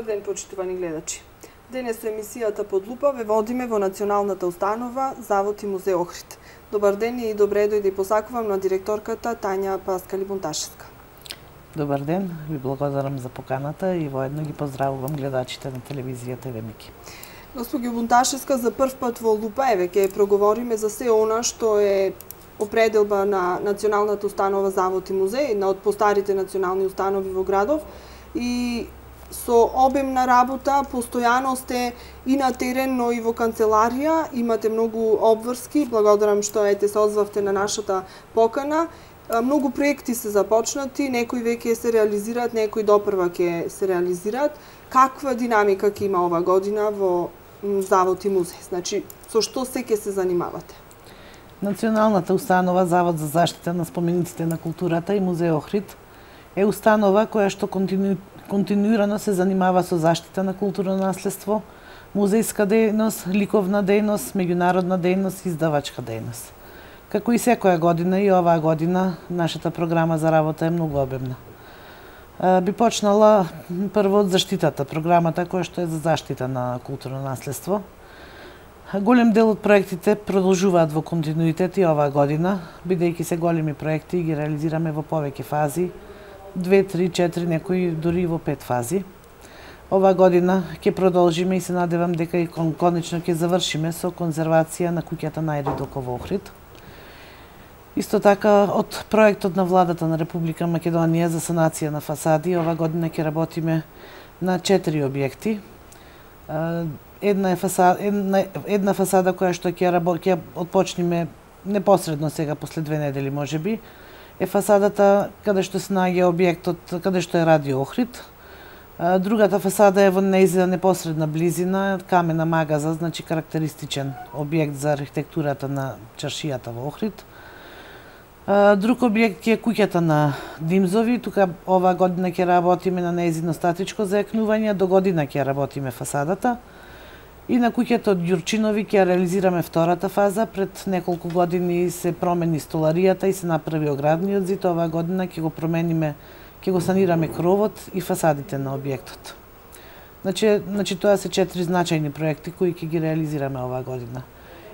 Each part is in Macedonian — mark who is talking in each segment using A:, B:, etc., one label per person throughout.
A: ден, почитувани гледачи. Денес со емисијата Под лупа ве водиме во Националната установа Завод и музеј Охрид. Добар ден и добре дојде посакувам на директорката Тања Паскали-Бунташевска.
B: Добар ден, ви благодарам за поканата и воедно ги поздравувам гледачите на телевизијата Вемики.
A: Госпоѓо Бунташевска, за прв пат во Лупа, еве ќе проговориме за се она што е определба на Националната установа Завод и музеј, една од постарите национални установи во градов, и со обем на работа, постојано сте и на терен, но и во канцеларија, имате многу обврски, благодарам што се озвавте на нашата покана. Многу проекти се започнати, некои веќе се реализираат, некои допрва ќе се реализираат. Каква динамика ќе има ова година во Завод и музеј? Значи, со што се ќе се занимавате?
B: Националната установа Завод за заштита на спомениците на културата и музеј Охрид е установа која што континуирано се занимава со заштита на културно наследство, музејска дејност, ликовна дејност, меѓународна дејност и издавачка дејност. Како и секоја година, и оваа година, нашата програма за работа е многу обемна. Би почнала прво од заштитата, програмата која што е за заштита на културно наследство. Голем дел од проектите продолжуваат во континуитет и оваа година, бидејќи се големи проекти ги реализираме во повеќе фази, 2, 3, 4, некои дури во 5 фази. Оваа година ќе продолжиме и се надевам дека и конечно ќе завршиме со конзервација на куќата на Ајридоко во Охрид. Исто така, од проектот на владата на Република Македонија за санација на фасади, оваа година ќе работиме на 4 објекти. Една фасада која што ќе отпочнеме непосредно сега, после 2 недели можеби, е фасадата каде што се наоѓа објектот, каде што е Радио Охрид. Другата фасада е во нејзина непосредна близина, камена магаза, значи карактеристичен објект за архитектурата на чаршијата во Охрид. Друг објект е куќата на Димзови, тука оваа година ќе работиме на нејзино статичко зајакнување, до година ќе работиме фасадата. И на куќата од Ѓурчинови ќе реализираме втората фаза. Пред неколку години се промени столаријата и се направи оградниот зид. Оваа година ќе го промениме, ќе го санираме кровот и фасадите на објектот. Значи тоа се 4 значајни проекти кои ќе ги реализираме оваа година.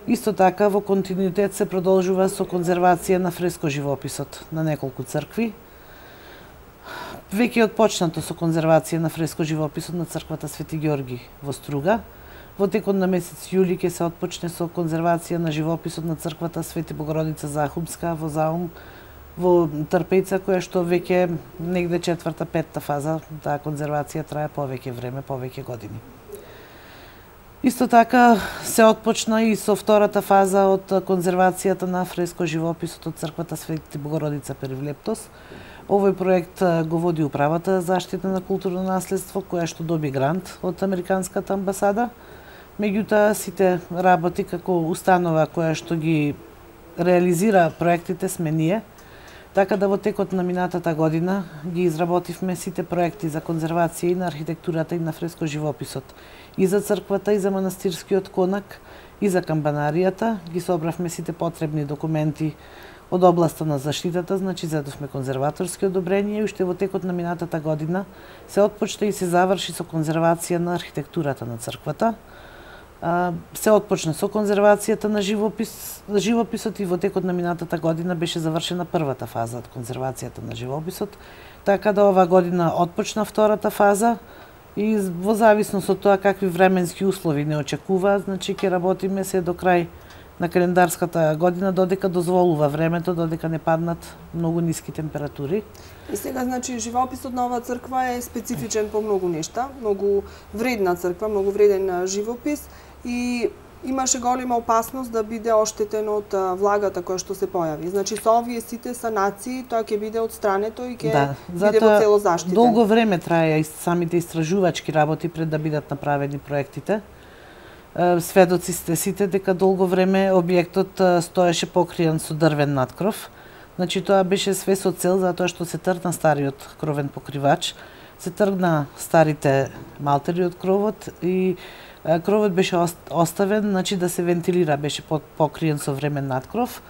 B: Исто така во континуитет се продолжува со конзервација на фреско живописот на неколку цркви. Веќе е отпочнато со конзервација на фреско живописот на црквата Свети Ѓорги во Струга. Во текот на месец јули ќе се отпочне со конзервација на живописот на црквата Свети Богородица Захумска во Заум, во Трпејца, која што веќе негде 4-5 фаза, таа конзервација трае повеќе време, повеќе години. Исто така се отпочна и со втората фаза од конзервацијата на фреско живописот од црквата Свети Богородица Перивлептос. Овој проект го води Управата за заштита на културно наследство, која што доби грант од Американската амбасада. Меѓутоа, сите работи како установа која што ги реализира проектите сме ние, така да во текот на минатата година ги изработивме сите проекти за конзервација и на архитектурата и на фреско живописот. И за црквата, и за манастирскиот конак, и за камбанаријата. Ги собравме сите потребни документи од областа на заштитата, значи зедовме конзерваторски одобренија и уште во текот на минатата година се отпочна и се заврши со конзервација на архитектурата на црквата. Се отпочна со конзервацијата на живописот и во текот на минатата година беше завршена првата фаза од конзервацијата на живописот, така да оваа година отпочна втората фаза и во зависност од тоа какви временски услови не очекуваат, значи ќе работиме се до крај на календарската година, додека дозволува времето, додека не паднат многу ниски температури.
A: И сега, значи, живописот на оваа црква е специфичен по многу нешта, многу вредна црква, многу вреден живопис, и имаше голема опасност да биде оштетен од влагата која што се појави. Значи, со овие сите санации, тоа ќе биде одстрането и ќе биде во цело заштитен.
B: Долго време траја и самите истражувачки работи пред да бидат направени проектите. Сведоци сте сите дека долго време објектот стоеше покриен со дрвен надкров. Значи, тоа беше све со цел, затоа што се тргна стариот кровен покривач, се тргна старите малтери од кровот и кровот беше оставен, значи да се вентилира, беше покриен со времен надкров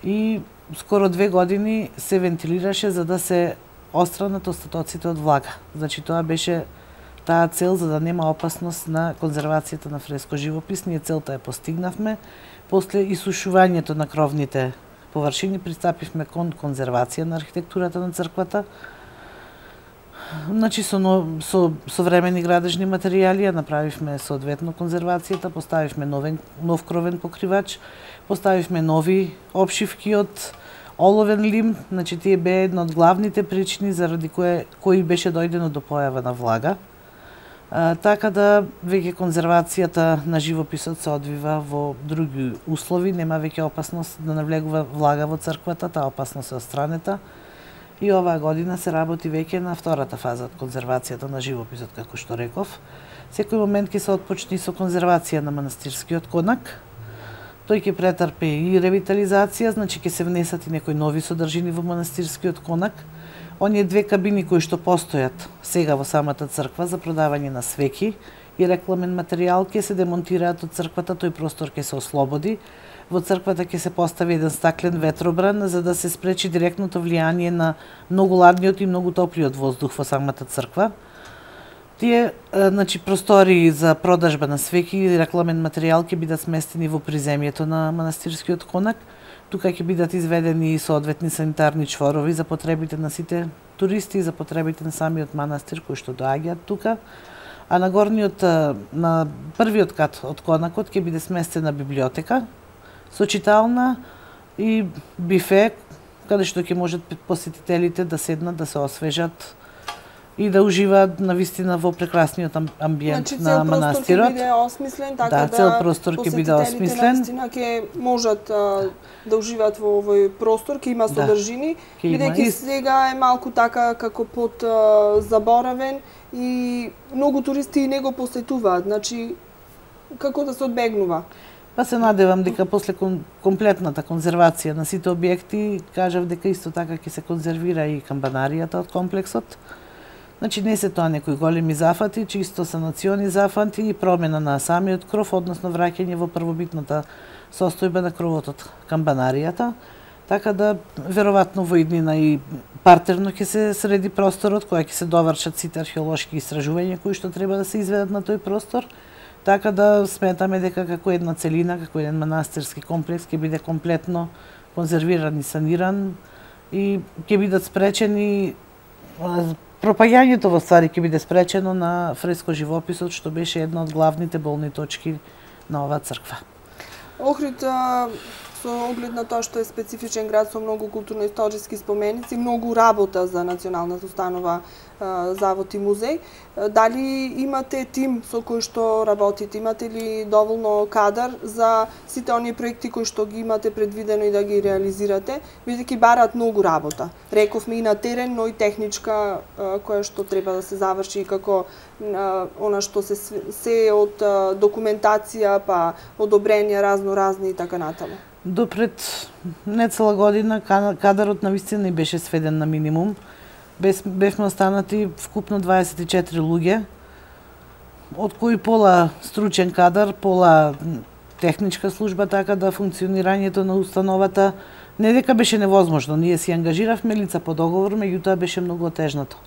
B: и скоро 2 години се вентилираше за да се остранат остатоците од влага. Значи тоа беше таа цел за да нема опасност на конзервацијата на фреско живопис. Ние целта ја постигнавме. После исушувањето на кровните површини пристапивме кон конзервација на архитектурата на црквата. Значи со современи градежни материјали ја направивме соодветно конзервацијата, поставивме нов кровен покривач, поставивме нови опшивки од оловен лим, значи тие беа една од главните причини заради кои беше дојдено до појава на влага. Така да веќе конзервацијата на живописот се одвива во други услови, нема веќе опасност да навлегува влага во црквата, таа опасност е отстранета. И оваа година се работи веќе на втората фаза од конзервацијата на живописот, како што реков. Секој момент ќе се отпочне со конзервација на манастирскиот конак. Тој ќе претрпи и ревитализација, значи ќе се внесат и некои нови содржини во манастирскиот конак. Оние две кабини кои што постојат сега во самата црква за продавање на свеќи и рекламен материјал ќе се демонтираат од црквата, тој простор ќе се ослободи. Во црквата ќе се постави еден стаклен ветробран за да се спречи директното влијание на многу ладниот и многу топлиот воздух во самата црква. Тие значи простори за продажба на свеќи и рекламен материјал ќе бидат сместени во приземјето на манастирскиот конак. Тука ќе бидат изведени соодветни санитарни чворови за потребите на сите туристи и за потребите на самиот манастир кои што доаѓаат тука. А на првиот кат од конакот ќе биде сместена библиотека со читална и бифе, каде што ќе можат посетителите да седнат, да се освежат и да уживаат навистина во прекрасниот амбиент на манастирот.
A: Значи, цел простор ќе биде осмислен, така
B: цел простор ќе биде осмислен.
A: Навистина ќе можат да уживаат во овој простор, ќе има содржини, бидејќи сега е малку така како под заборавен и многу туристи не го посетуваат. Значи, како да се одбегнува?
B: Па се надевам дека после комплетната конзервација на сите објекти, кажав дека исто така ќе се конзервира и камбанаријата од комплексот. Значи не се тоа некои големи зафати, чисто санациони зафати и промена на самиот кров, односно враќање во првобитната состојба на кровот од камбанаријата. Така да веројатно во иднина и партерно ќе се среди просторот, која ќе се довршат сите археолошки истражувања кои што треба да се изведат на тој простор. Така да сметаме дека како една целина, како еден манастирски комплекс ќе биде комплетно конзервиран и саниран и ќе бидат спречени пропаѓањето во ствари ќе биде спречено на фреско живописот, што беше една од главните болни точки на оваа црква.
A: Охрид, со оглед на тоа што е специфичен град со многу културно-историски споменици, многу работа за Националната установа Завод и музеј. Дали имате тим со кој што работите? Имате ли доволно кадар за сите оние проекти кои што ги имате предвидено и да ги реализирате, бидејќи бараат многу работа? Рековме и на терен, но и техничка која што треба да се заврши, како она што се од документација, па одобренија разни и така натаму.
B: До пред нецела година кадарот навистина и беше сведен на минимум. Бевме останати вкупно 24 луѓе, од кои пола стручен кадар, пола техничка служба, така да функционирањето на установата не дека беше невозможно. Ние си ангажиравме лица по договор, меѓутоа беше многу отежнато.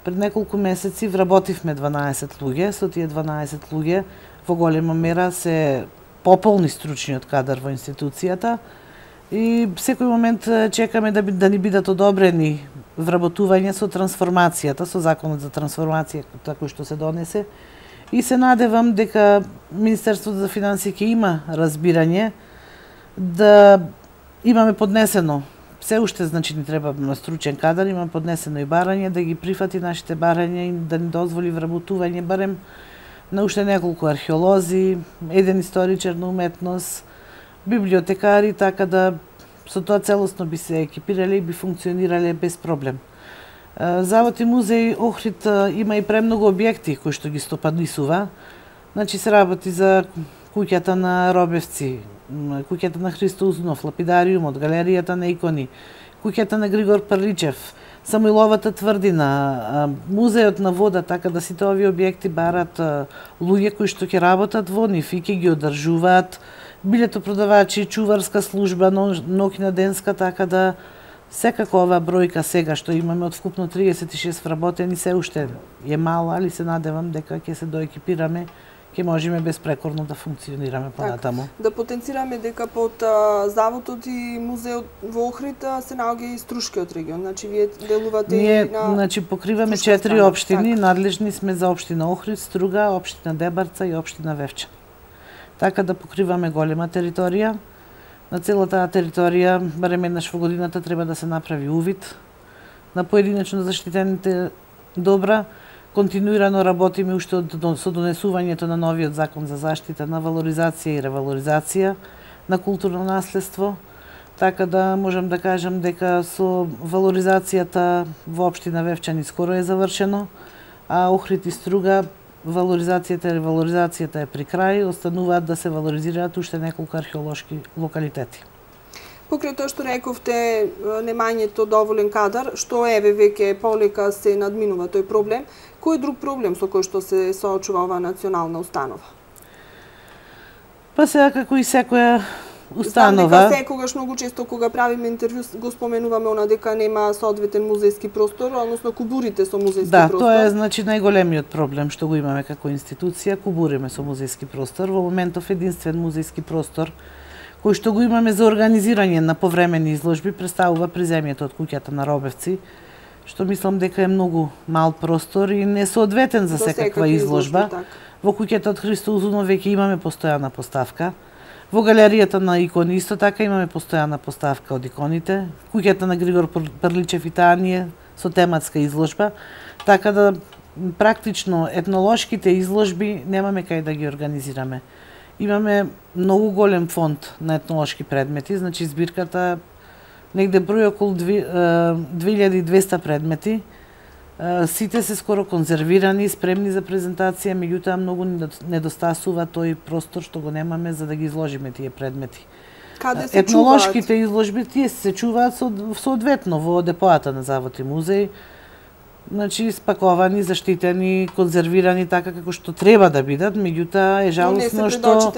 B: Пред неколку месеци вработивме 12 луѓе, со тие 12 луѓе во голема мера се пополни стручниот кадар во институцијата и секој момент чекаме да ни бидат одобрени вработување со трансформацијата, со законот за трансформација кој што се донесе и се надевам дека Министерството за финансии ќе има разбирање да имаме поднесено се уште, значи ни треба стручен кадар, има поднесено и барање да ги прифати нашите барања и да ни дозволи вработување барем на уште неколку археолози, еден историчар на уметност, библиотекари, така да со тоа целосно би се екипирале и би функционирале без проблем. Завод и музеј Охрид има и премногу објекти кои што ги стопанисува. Значи се работи за куќата на Робевци, куќата на Христо Узунов, лапидариумот, галеријата на икони, куќата на Григор Парличев, Самуиловата тврдина, музеот на вода, така да сите овие објекти барат луѓе кои што ќе работат во нив и ќе ги одржуваат, билетопродавачи, чуварска служба, ноќна денска, така да Секако ова бројка сега што имаме од вкупно 36 вработени се уште е мала, али се надевам дека ќе се доекипираме, ќе можеме безпрекорно да функционираме понатаму.
A: Да потенцираме дека под заводот и музеот во Охрид се наоѓа и струшкиот регион. Значи вие делувате
B: и
A: на
B: значи покриваме 4 општини, надлежни сме за општина Охрид, Струга, општина Дебарца и општина Вевча. Така да покриваме голема територија. На целата територија, барем еднаш во годината, треба да се направи увид на поединечно заштитените добра. Континуирано работиме уште со донесувањето на новиот закон за заштита на валоризација и ревалоризација на културно наследство. Така да можам да кажам дека со валоризацијата во општина Вевчани скоро е завршено, а Охрид и Струга валоризацијата и ревалоризацијата е при крај, остануваат да се валоризираат уште неколку археолошки локалитети.
A: Покрај тоа што рековте, немањето доволен кадар, што еве веќе полека се надминува тој проблем, кој друг проблем со кој што се соочува оваа национална установа?
B: Па сега како и секоја установа.
A: Знам дека секогаш многу често кога правиме интервју го споменуваме она дека нема соодветен музејски простор, односно кубурите со музејски простор.
B: Да, тоа е значи најголемиот проблем што го имаме како институција, кубуриме со музејски простор. Во моментов единствен музејски простор кој што го имаме за организирање на повремени изложби представува приземјето од куќата на Робевци, што мислам дека е многу мал простор и несоодветен за секаква изложба. Во куќата од Христо Узунов веќе имаме постојана поставка. Во галеријата на икони исто така имаме постојана поставка од иконите. Куќата на Григор Прличев и Таанije со тематска изложба. Така да практично етнолошките изложби немаме кај да ги организираме. Имаме многу голем фонд на етнолошки предмети, значи збирката негде број околу 2200 предмети. Сите се скоро конзервирани, спремни за презентација, меѓутоа многу недостасува тој простор што го немаме за да ги изложиме тие предмети.
A: Каде се
B: етнолошките изложби тие се чуваат соодветно во депоата на Завод и музеј. Значи спаковани, заштитени, конзервирани така како што треба да бидат, меѓутоа е жалосно што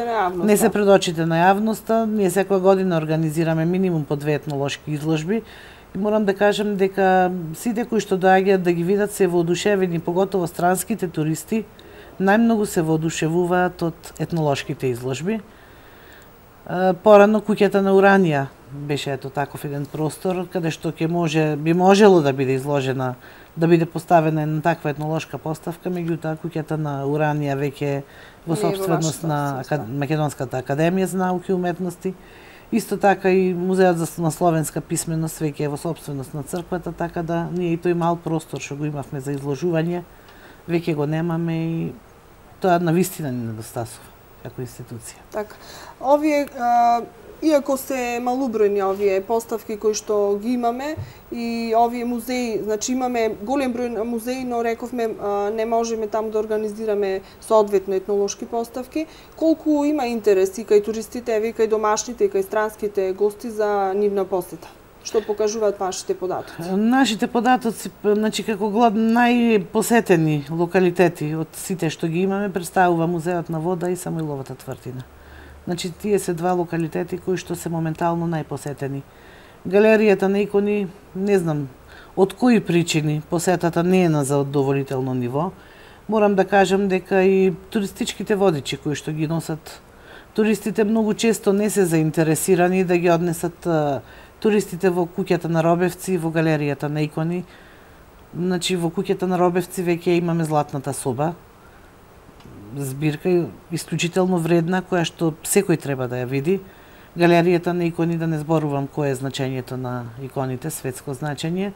B: не се пред очите на јавноста. Ние секоја година организираме минимум по 2 етнолошки изложби. И морам да кажам дека сите кои што доаѓаат да ги видат се воодушевени, поготово странските туристи, најмногу се воодушевуваат од етнолошките изложби. Порано куќата на Уранија беше ето таков еден простор каде што би можело да биде изложена, да биде поставена една таква етнолошка поставка, меѓутоа куќата на Уранија веќе во сопственост на Македонската академија за науки и уметности. Исто така и Музеот на словенска писменост веќе е во сопственост на црквата, така да ние и тој мал простор што го имавме за изложување веќе го немаме и тоа навистина ни недостасува како институција.
A: Така. Овие иако се малубројни овие поставки кои што ги имаме и овие музеи, значи имаме голем број на музеи, но рековме не можеме таму да организираме соодветно етнолошки поставки. Колку има интерес и кај туристите, и кај домашните, и кај странските гости за нивна посета? Што покажуваат вашите податоци?
B: Нашите податоци, значи како најпосетени локалитети од сите што ги имаме, представува Музеот на вода и Самуиловата тврдина. Значи тие се два локалитети кои што се моментално најпосетени. Галеријата на икони, не знам од кои причини посетата не е на задоволително ниво. Морам да кажам дека и туристичките водичи кои што ги носат туристите многу често не се заинтересирани да ги однесат туристите во куќата на Робевци, во галеријата на икони. Значи во куќата на Робевци веќе имаме Златната соба, збирка исклучително вредна која што секој треба да ја види. Галеријата на икони, да не зборувам кое е значењето на иконите, светско значење.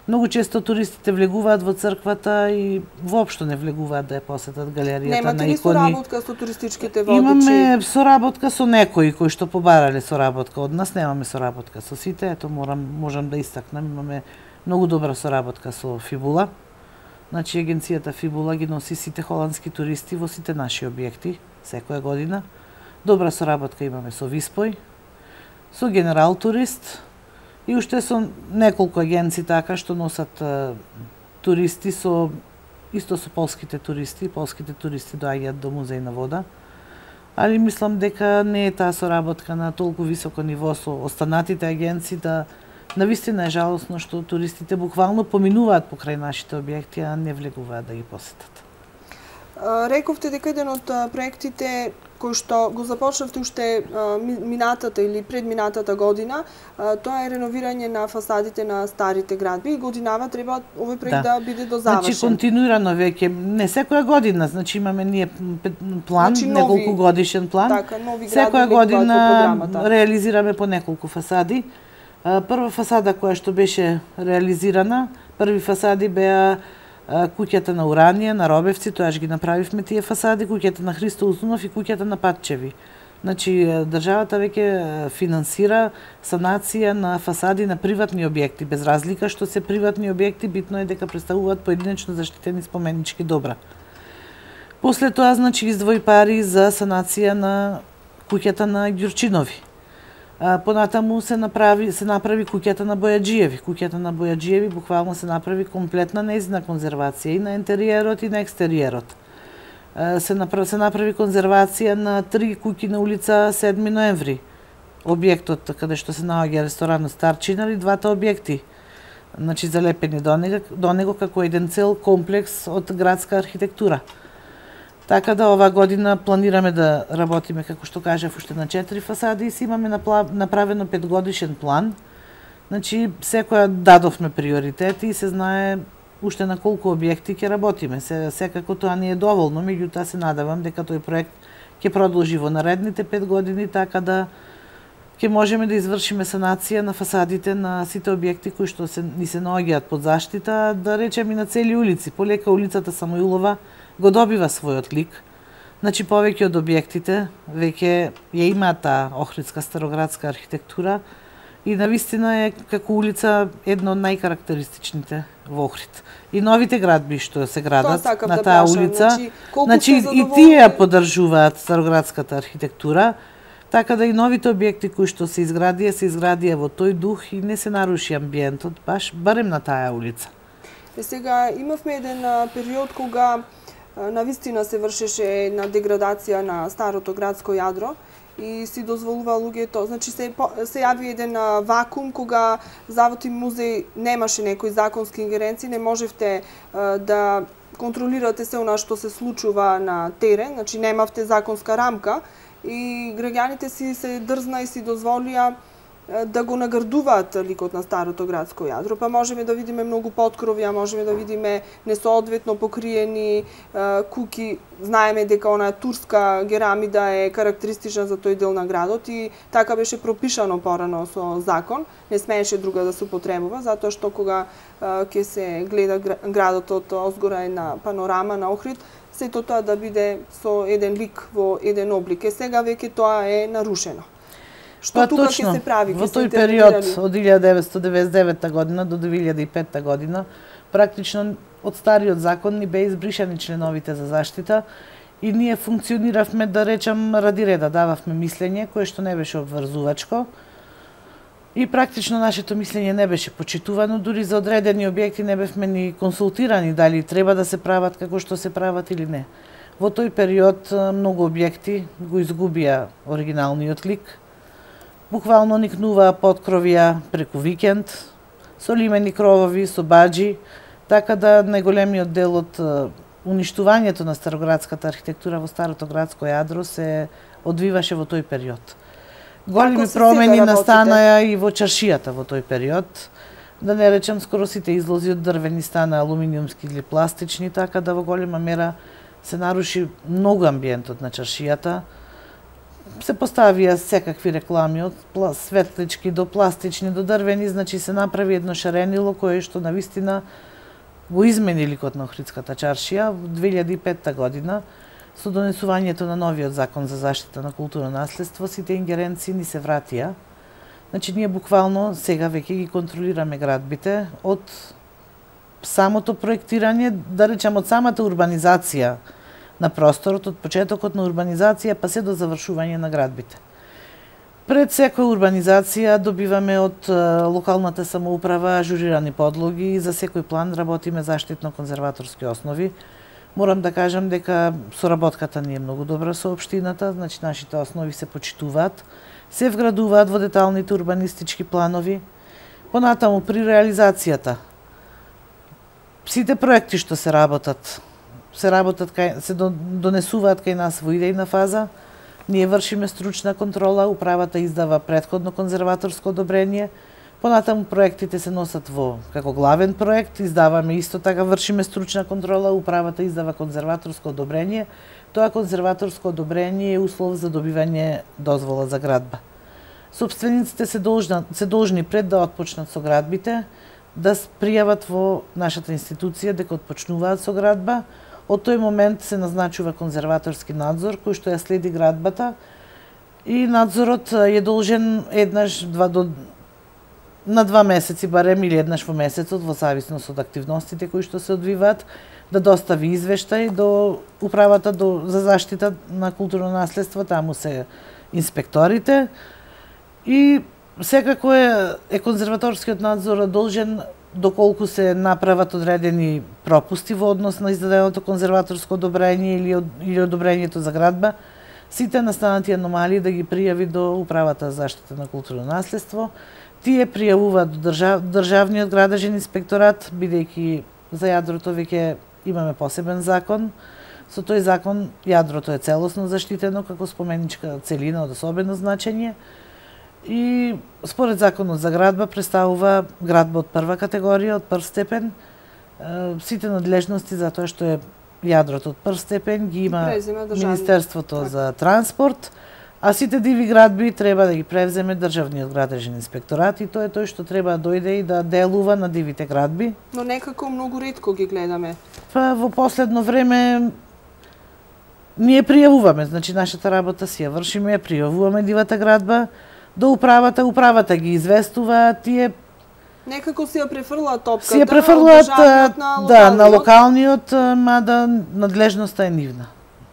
B: Многу често туристите влегуваат во црквата и воопшто не влегуваат да ја посетат галеријата на икони.
A: Немате ли соработка со туристичките водичи?
B: Имаме соработка со некои кои што побарале соработка од нас, немаме соработка со сите. Ето можам да истакнам, имаме многу добра соработка со Фибула. Значи агенцијата Фибула ги носи сите холандски туристи во сите наши објекти секоја година. Добра соработка имаме со Виспој, со Генерал Турист и уште со неколку агенции така што носат туристи исто со полските туристи. Полските туристи доаѓаат до Музеј на вода. Али мислам дека не е таа соработка на толку високо ниво со останатите агенции да Навистина е жалосно што туристите буквално поминуваат покрај нашите објекти, а не влегуваат да ги посетат.
A: Рековте дека еден од проектите кој што го започнавте уште минатата или предминатата година, тоа е реновирање на фасадите на старите градби и годинава треба овој проект да биде дозавршен.
B: Значи континуирано веќе, не секоја година, значи имаме ние план, значи, неколку годишен план.
A: Така, нови градби
B: секоја година реализираме по неколку фасади. Прва фасада која што беше реализирана, први фасади беа куќата на Уранија, на Робевци, тоаш ги направивме тие фасади, куќата на Христо Узунов и куќата на Патчеви. Значи, државата веќе финансира санација на фасади на приватни објекти, без разлика што се приватни објекти, битно е дека представуваат поединечно заштитени споменички добра. После тоа, значи, издвои пари за санација на куќата на Ѓурчинови. Понатаму се направи куќата на Бојаджиеви. Куќата на Бојаджиеви буквално се направи комплетна нејзина конзервација и на интериерот и на екстериерот. Се направи конзервација на 3 куќи на улица 7 ноември. Објектот каде што се наоѓа ресторанот Старчина и двата објекти. Значи залепени до него како еден цел комплекс од градска архитектура. Така да ова година планираме да работиме, како што кажав, уште на 4 фасади и си имаме направено 5-годишен план. Значи, секоја дадовме приоритети и се знае уште на колку објекти ќе работиме. Секако тоа не е доволно, меѓутоа се надевам дека тој проект ќе продолжи во наредните 5 години, така да ќе можеме да извршиме санација на фасадите на сите објекти кои што ни се наоѓаат под заштита, да речем и на цели улици. Полека улицата Самуилова го добива својот лик. Значи, повеќе од објектите веќе ја имаат таа охридска староградска архитектура и навистина е како улица една од најкарактеристичните во Охрид. И новите градби што се градат на таа улица, значи и тие ја поддржуваат староградската архитектура, така да и новите објекти кои што се изградија во тој дух и не се наруши амбиентот, барем на таа улица.
A: Сега имавме еден период кога навистина се вршеше една деградација на старото градско јадро и си дозволува луѓето, значи се јави еден вакуум кога Завод и музеј немаше некои законски ингеренции, не можевте да контролирате се она што се случува на терен, значи немавте законска рамка и граѓаните си се дрзна и си дозволија да го наградуваат ликот на старото градско јадро, па можеме да видиме многу поткровја, можеме да видиме несоодветно покриени куки. Знаеме дека она турска керамида е карактеристична за тој дел на градот и така беше пропишано порано со закон, не смееше друга да се употребува, затоа што кога ќе се гледа градот од озгора една панорама на Охрид, сето тоа да биде со еден лик во еден облик. Сега веќе тоа е нарушено. Што тука ќе се прави?
B: Во тој период од 1999 година до 2005 година, практично од стариот закон ни беа избришани членовите за заштита и ние функциониравме, да речам, ради реда, дававме мислење кое што не беше обврзувачко и практично нашето мислење не беше почитувано, дури за одредени објекти не бевме ни консултирани дали треба да се прават како што се прават или не. Во тој период многу објекти го изгубија оригиналниот лик. Буквално никнуваа поткровија преку викенд, со лимени кровови, со баџи, така да најголемиот дел од уништувањето на староградската архитектура во старото градско јадро се одвиваше во тој период. Големи промени настанаа и во чаршијата во тој период. Да не речем, скоро сите излози од дрвени стана алуминиумски или пластични, така да во голема мера се наруши многу амбиентот на чаршијата. Се поставија секакви реклами од светлички до пластични до дрвени, значи се направи едно шаренило кое што навистина го измени ликот на Охридската чаршија во 2005 година со донесувањето на новиот закон за заштита на културно наследство. Сите ингеренции ни се вратија. Значи ние буквално сега веќе ги контролираме градбите од самото проектирање, да речем од самата урбанизација на просторот, од почетокот на урбанизација па се до завршување на градбите. Пред секоја урбанизација добиваме од локалната самоуправа ажурирани подлоги и за секој план работиме заштитно-конзерваторски основи. Морам да кажам дека соработката ни е многу добра со општината, значи нашите основи се почитуваат, се вградуваат во деталните урбанистички планови. Понатаму при реализацијата. Сите проекти што се работат се донесуваат кај нас во идејна фаза. Ние вршиме стручна контрола, управата издава претходно конзерваторско одобрение. Понатаму проектите се носат како главен проект, издаваме исто така, вршиме стручна контрола, управата издава конзерваторско одобрение. Тоа конзерваторско одобрение е услов за добивање дозвола за градба. Собствениците се должни пред да отпочнат со градбите да пријават во нашата институција дека отпочнуваат со градба. Од тој момент се назначува конзерваторски надзор кој што ја следи градбата и надзорот е должен на 2 месеци барем или еднаш во месецот во зависност од активностите кои што се одвиваат да достави извештај до управата за заштита на културно наследство, таму се инспекторите и секако е конзерваторскиот надзор должен доколку се направат одредени пропусти во однос на издаденото конзерваторско одобрение или одобрението за градба, сите настанати аномалии да ги пријави до управата за заштита на културно наследство. Тие пријавуваат до Државниот градежен инспекторат, бидејќи за јадрото веќе имаме посебен закон. Со тој закон јадрото е целосно заштитено како споменичка целина од особено значење. И според законот за градба представува градба од прва категорија, од прв степен. Сите надлежности за тоа што е јадрото од прв степен ги има Министерството за транспорт, а сите диви градби треба да ги превземе Државниот градежен инспекторат и тоа е тој што треба да дојде и да делува на дивите градби.
A: Но некако многу ретко ги гледаме.
B: Во последно време ние пријавуваме, значи нашата работа си ја вршиме, пријавуваме дивата градба до управата ги известува, тие
A: некако си ја префрлаат топката.
B: Си ја префрлаат на локалниот, мада надлежноста е нивна.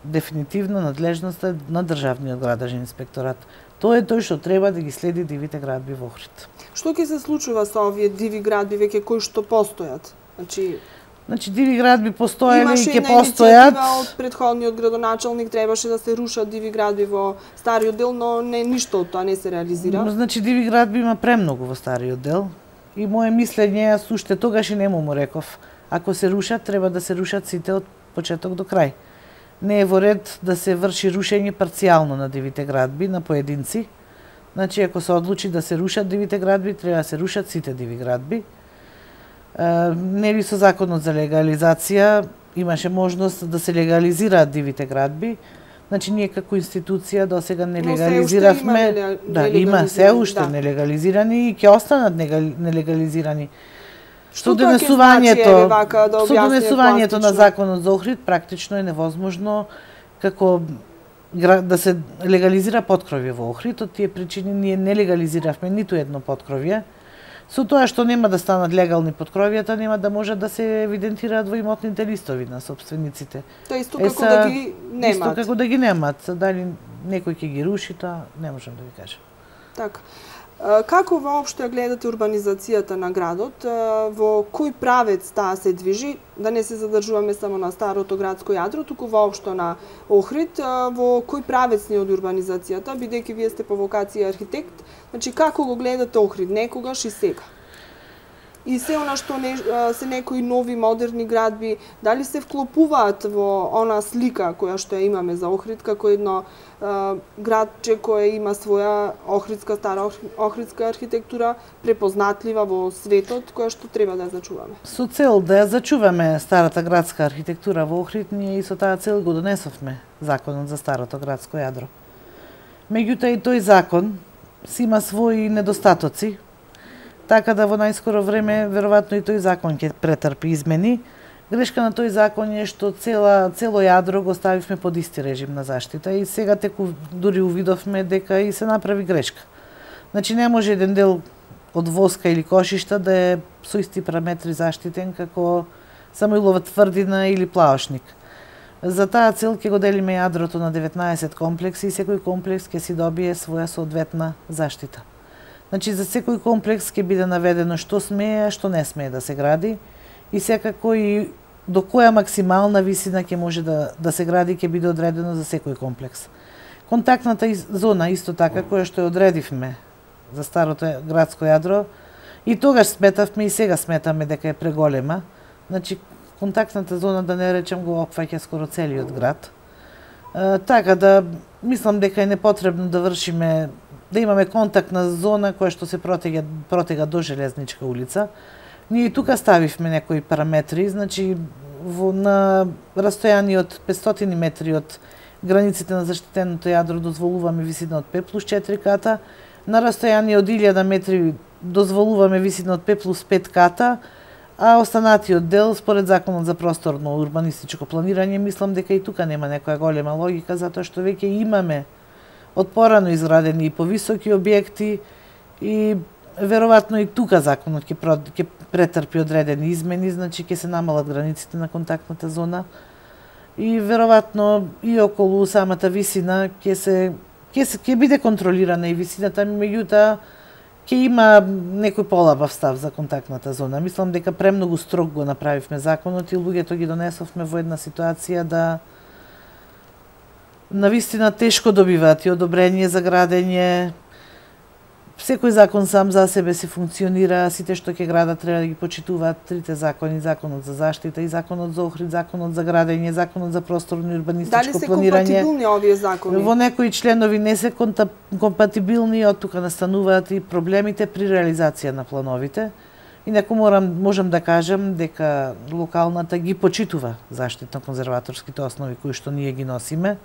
B: Дефинитивно надлежноста е на Државниот градежен инспекторат. Тоа е тој што треба да ги следи дивите градби во Охрид.
A: Што ќе се случува со овие диви градби веќе кои што постојат?
B: Значи диви градби постоеле и ќе постојат.
A: Имаше од претходниот градоначалник требаше да се рушат диви градби во стариот дел, но ништо од тоа не се реализира.
B: Значи диви градби има премногу во стариот дел. И мое мислење, јас уште тогаш и нему му реков, ако се рушат, треба да се рушат сите од почеток до крај. Не е во ред да се врши рушење парцијално на дивите градби, на поединци. Значи, ако се одлучи да се рушат дивите градби, треба да се рушат сите диви градби. Нели со законот за легализација имаше можност да се легализираат дивите градби. Значи, ние како институција до сега не легализиравме. Има се уште нелегализирани и ќе останат нелегализирани. Што донесувањето на законот за Охрид практично е невозможно како да се легализира поткровје во Охрид. Од тие причини ние не легализиравме ниту едно поткровје. Со тоа што нема да станат легални поткровјата, нема да можат да се евидентираат во имотните листови на собствениците.
A: Тоа исто како да ги немат.
B: Исто како да ги немат. Дали некој ќе ги руши, тоа не можам да ви кажам.
A: Така. Како воопшто ја гледате урбанизацијата на градот? Во кој правец таа се движи? Да не се задржуваме само на старото градско јадро, туку воопшто на Охрид. Во кој правец ни од урбанизацијата, бидејќи вие сте по вокација архитект, значи како го гледате Охрид некогаш и сега? И се она што се некои нови модерни градби, дали се вклопуваат во она слика која што ја имаме за Охрид како едно градче кое има своја стара охридска архитектура, препознатлива во светот, која што треба да ја зачуваме.
B: Со цел да ја зачуваме старата градска архитектура во Охрид, ние и со таа цел го донесовме законот за старото градско јадро. Меѓутоа и тој закон си има своји недостатоци, така да во најскоро време веројатно и тој закон ќе претрпи измени. Грешка на тој закон е што цело јадро го ставивме под исти режим на заштита и сега теку дури увидовме дека и се направи грешка. Значи не може еден дел од воска или кошишта да е со исти параметри заштитен како Самоилова тврдина или Плаошник. За таа цел ќе го делиме јадрото на 19 комплекси и секој комплекс ќе си добие своја соодветна заштита. Значи, за секој комплекс ќе биде наведено што смее, а што не смее да се гради и секако и до која максимална висина ќе може да се гради ќе биде одредено за секој комплекс. Контактната зона исто така која што ја одредивме за старото градско јадро И тогаш сметавме и сега сметаме дека е преголема. Значи, контактната зона, да не речем, го опфаќа скоро целиот град. Така да, мислам дека е непотребно да вршиме, да имаме контактна зона која што се протега до Железничка улица. Ние и тука ставивме некои параметри, значи на растојание од 500 метри од границите на заштитеното јадро дозволуваме висина од 5+4 ката, на растојание од 1000 метри дозволуваме висина од 5+5 ката, а останатиот дел, според Законот за просторно урбанистичко планирање, мислам дека и тука нема некоја голема логика, затоа што веќе имаме од порано изградени и повисоки објекти и веројатно и тука законот ќе претрпи одредени измени, значи ќе се намалат границите на контактната зона и веројатно и околу самата висина ќе биде контролирана и висината, меѓутоа ќе има некој полабав став за контактната зона. Мислам дека премногу строг го направивме законот и луѓето ги донесовме во една ситуација да навистина тешко добиваат и одобрение за градење. Секој закон сам за себе си функционира, сите што ќе градат треба да ги почитуваат трите закони, Законот за заштита и Законот за Охрид, Законот за градење, Законот за просторно и урбанистичко планирање.
A: Дали се компатибилни овие закони?
B: Во некои членови не се компатибилни, од тука настануваат и проблемите при реализација на плановите. Инаку можам да кажам дека локалната ги почитува заштитно-конзерваторските основи кои што ние ги носиме.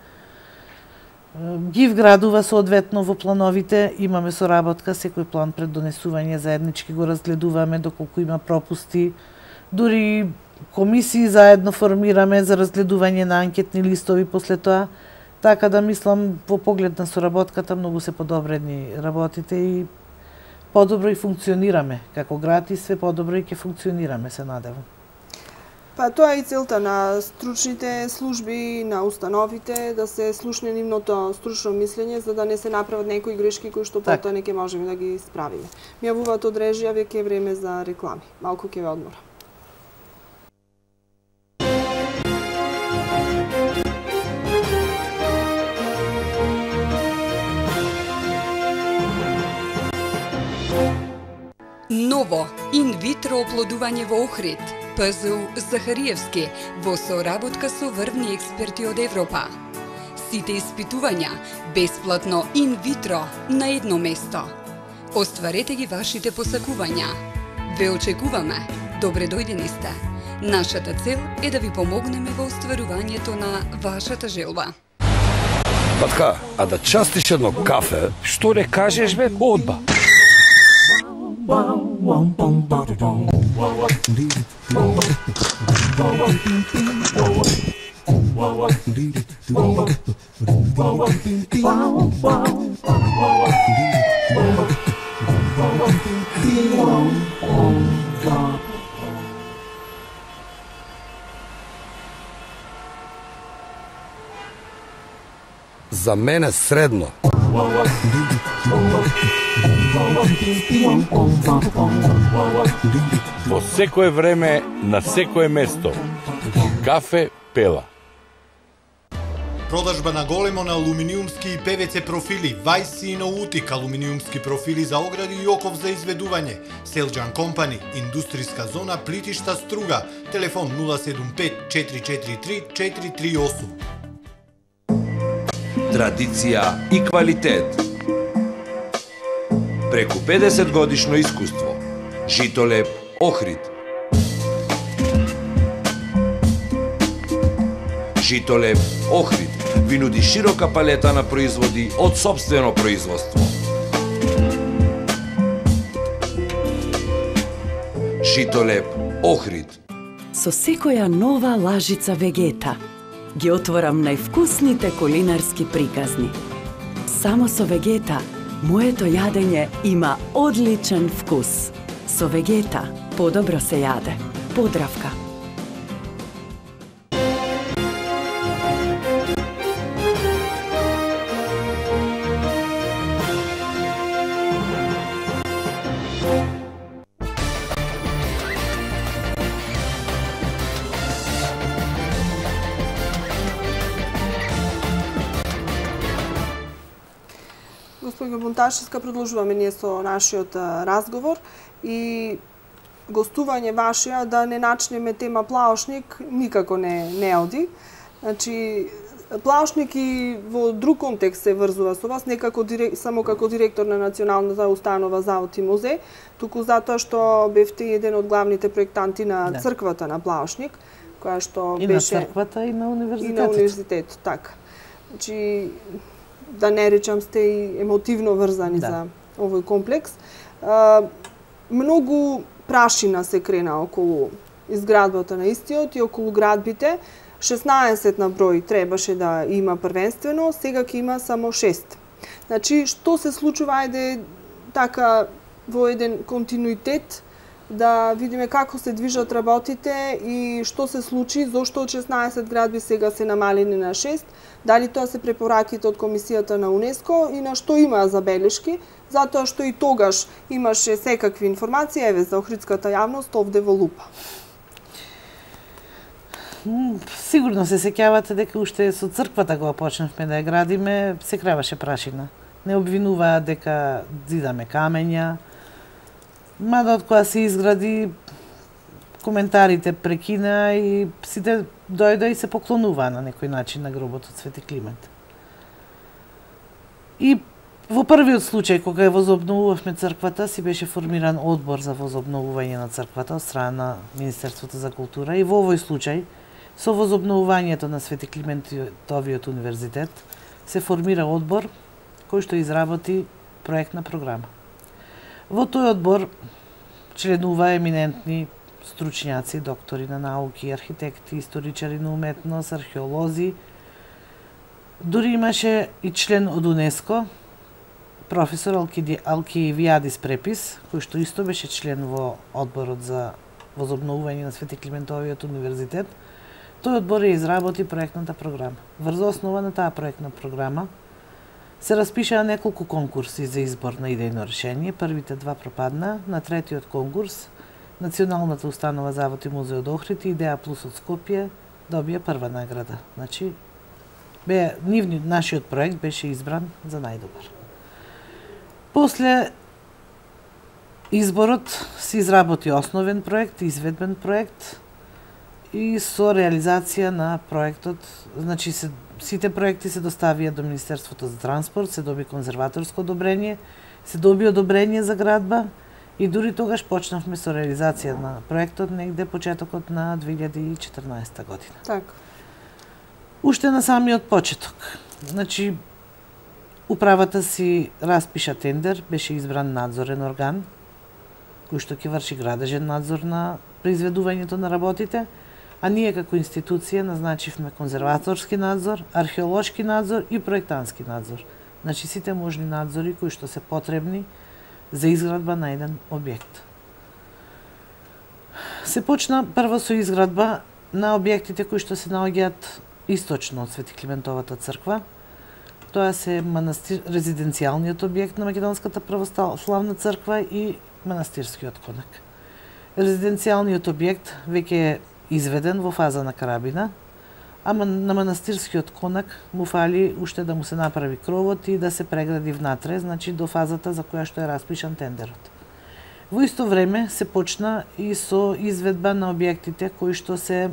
B: Ги вградува соодветно во плановите, имаме соработка, секој план пред донесување заеднички го разгледуваме доколку има пропусти, дури комисии заедно формираме за разгледување на анкетни листови после тоа, така да мислам во поглед на соработката многу се подобрени работите и подобро и функционираме како град и све подобро и ќе функционираме, се надевам.
A: Па тоа е и целта на стручните служби, на установите, да се слушне нивното стручно мислење, за да не се направат некои грешки кои што потоа не ќе можеме да ги исправиме. Ми јавуваат од режија, веќе е време за реклами. Малку ќе ве одмора.
C: Ново инвитро оплодување во Охрид. ПЗУ Захариевски во соработка со врвни експерти од Европа. Сите испитувања бесплатно инвитро на едно место. Остварете ги вашите посакувања. Ве очекуваме. Добре дојдени сте. Нашата цел е да ви помогнеме во остварувањето на вашата желба.
D: Патка, а да частиш едно кафе?
E: Што не кажеш бе, одба.
D: За мене средно.
E: Во секое време, на секое место. Кафе Пела.
F: Продажба на големо на алуминиумски и ПВЦ профили, Вајс и Ноутик алуминиумски профили за огради и оков за изведување. Селџан Компани, индустријска зона Плитишта Струга, телефон 075 443 438.
G: Традиција и квалитет. Преку 50 годишно искуство. Житолеп Охрид. Житолеп Охрид ви нуди широка палета на производи од сопствено производство. Житолеп Охрид.
H: Со секоја нова лажица Вегета ги отворам највкусните кулинарски приказни. Само со Вегета моето јадење има одличен вкус. Со Вегета подобро се јаде. Подравка.
A: господине Бунташевска, продолжуваме ние со нашиот разговор и гостување вашија да не начнеме тема Плаошник никако не оди. Значи, Плаошник и во друг контекст се врзува со вас, не само како директор на Националната установа Завод и музеј, туку затоа што бевте еден од главните проектанти на црквата на Плаошник, која што
B: и
A: беше...
B: И на црквата, и на универзитетот.
A: И на универзитетот, така. Значи, да не речам, сте и емотивно врзани за овој комплекс. Многу прашина се крена околу изградбата на истиот и околу градбите. 16 на број требаше да има првенствено, сега ќе има само 6. Значи, што се случува, ајде така во еден континуитет, да видиме како се движат работите и што се случи, зошто од 16 градби сега се намалени на 6, дали тоа се препораките од Комисијата на УНЕСКО и на што има забелешки, затоа што и тогаш имаше секакви информации, еве за охридската јавност овде во лупа.
B: Сигурно се сеќавате дека уште со црквата кога почнавме да ја градиме, се креваше прашина. Не обвинуваа дека зидаме камења, мада од која се изгради, коментарите прекина и сите дојде и се поклонуваа на некој начин на гробот од Свети Климент. И во првиот случај, кога ја возобновувавме црквата, си беше формиран одбор за возобновување на црквата од страна на Министерството за култура и во овој случај, со возобновувањето на Свети Климентовиот универзитет, се формира одбор кој што изработи проектна програма. Во тој одбор членува еминентни стручњаци, доктори на науки, архитекти, историчари на уметност, археолози. Дури имаше и член од УНЕСКО, професор Алкиевиадис Препис, кој што исто беше член во одборот за возобновување на Свети Климентовиот универзитет. Тој одбор ја изработи проектната програма. Врз основа на таа проектна програма се распишаа неколку конкурси за избор на идејно решение. Првите два пропадна. На третиот конкурс Националната установа Завод и музеј од Охрид и Идеја Плюс од Скопје добија прва награда. Значи, нашиот проект беше избран за најдобар. После изборот се изработи основен проект, изведбен проект и со реализација на проектот, значи сите проекти се доставија до Министерството за транспорт, се доби конзерваторско одобрение, се доби одобрение за градба и дури тогаш почнавме со реализација на проектот негде почетокот на 2014 година.
A: Така.
B: Уште на самиот почеток. Значи, управата си распиша тендер, беше избран надзорен орган, кој што ќе врши градежен надзор на произведувањето на работите, а ние како институција назначивме конзерваторски надзор, археолошки надзор и проектански надзор. Значи сите можни надзори кои што се потребни за изградба на еден објект. Се почна прво со изградба на објектите кои што се наоѓаат источно од Свети Климентовата црква. Тоа се резиденцијалниот објект на Македонската православна црква и манастирскиот конак. Резиденцијалниот објект веќе е изведен во фаза на карабина, а на манастирскиот конак му фали уште да му се направи кровот и да се прегради внатре, значи до фазата за која што е распишан тендерот. Во исто време се почна и со изведба на објектите кои што се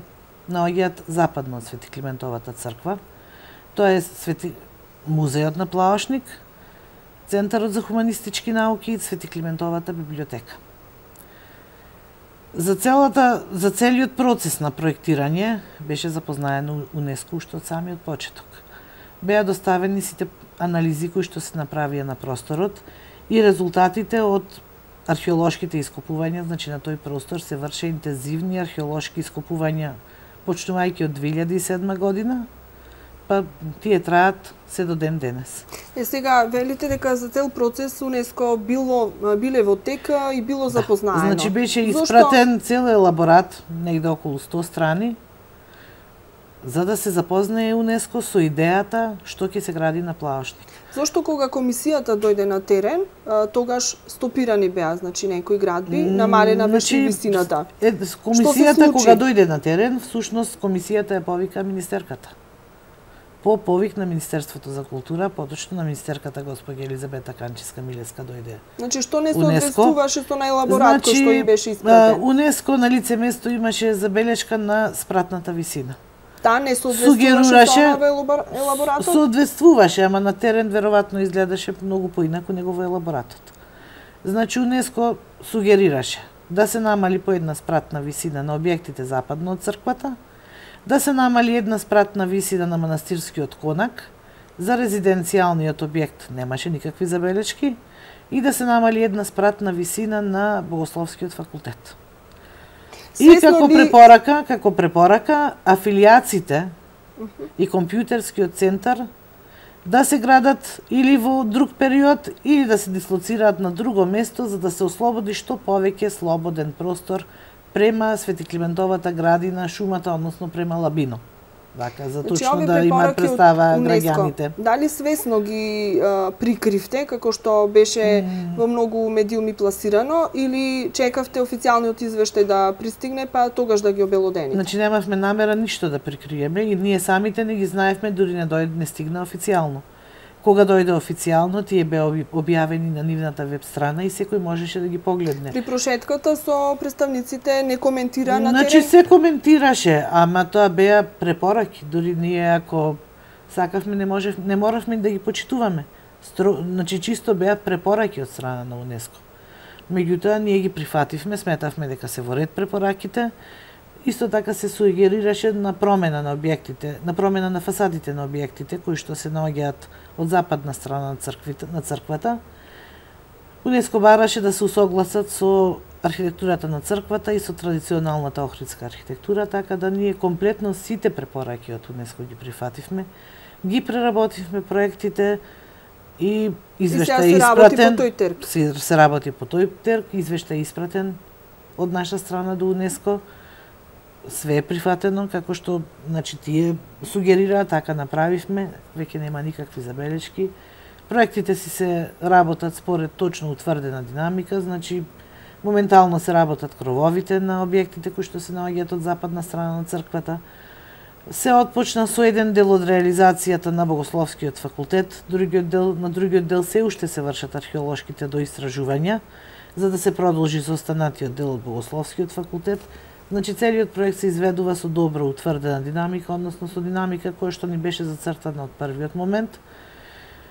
B: наоѓаат западно од Свети Климентовата црква. Тоа е музејот на Плаошник, Центарот за хуманистички науки и Свети Климентовата библиотека. За целиот процес на проектирање беше запознаено УНЕСКО уште од самиот почеток. Беа доставени сите анализи кои што се направија на просторот и резултатите од археолошките ископувања, значи на тој простор се врше интензивни археолошки ископувања почнувајќи од 2007 година, па тие траат се до ден денес.
A: Сега велите дека за цел процес УНЕСКО биле во тека и било запознаено.
B: Значи беше испратен цел елаборат, негде околу 100 страни, за да се запознае УНЕСКО со идејата што ќе се гради на Плаошник.
A: Зошто кога комисијата дојде на терен, тогаш стопирани беа, значи некои градби, намалена беше висината.
B: Комисијата кога дојде на терен, всушност комисијата ја повика министерката. по повик на Министерството за култура, поточно на министерката госпоѓа Елизабета Канчевска-Милевска дојде.
A: Значи што не се одвестуваше со најелаборат кој што им беше испратен?
B: УНЕСКО на лице место имаше забелешка на спратната висина.
A: Та не се одвестуваше со елаборатот?
B: Се одвестуваше, ама на терен веројатно изгледаше многу поинаку него во елаборатот. Значи УНЕСКО сугерираше да се намали по една спратна висина на објектите западно од црквата, да се намали една спратна висина на манастирскиот конак, за резиденцијалниот објект немаше никакви забелешки, и да се намали една спратна висина на Богословскиот факултет. И како препорака, афилијациите и компјутерскиот центар да се градат или во друг период, или да се дислоцираат на друго место, за да се ослободи што повеќе слободен простор према Свети Климентовата градина, шумата, односно према Лабино. Така, за точно да имаат представа граѓаните.
A: Дали свесно ги прикривте, како што беше во многу медиуми пласирано, или чекавте официјалниот извештај да пристигне, па тогаш да ги обелодените?
B: Значи, немавме намера ништо да прикриеме и ние самите не ги знаевме, дури не стигна официјално. Кога дојде официјално, тие беа објавени на нивната веб страна и секој можеше да ги погледне.
A: При прошетката со представниците не коментира на терен?
B: Значи се коментираше, ама тоа беа препораки. Дури ние ако сакавме не моравме да ги почитуваме. Значи чисто беа препораки од страна на УНЕСКО. Меѓутоа ние ги прифативме, сметавме дека се во ред препораките. Исто така се сугерираше на промена на објектите, на промена на фасадите на објектите кои што се наоѓаат од западна страна на црквата. УНЕСКО бараше да се усогласат со архитектурата на црквата и со традиционалната охридска архитектура, така да ние комплетно сите препораки од УНЕСКО ги прифативме, ги преработивме проектите и извештај испратен. Се работи по тој терк, извештај испратен од наша страна до УНЕСКО. Све е прифатено, како што значи тие сугерираат, така направивме, веќе нема никакви забелешки. Проектите си се работат според точно утврдена динамика, значи моментално се работат крововите на објектите кои што се наоѓаат од западна страна на црквата. Се отпочна со еден дел од реализацијата на Богословскиот факултет, на другиот дел се уште се вршат археолошките доистражувања, за да се продолжи со останатиот дел од Богословскиот факултет. Значи, целиот проект се изведува со добро утврдена динамика, односно со динамика која што ни беше зацртана од првиот момент.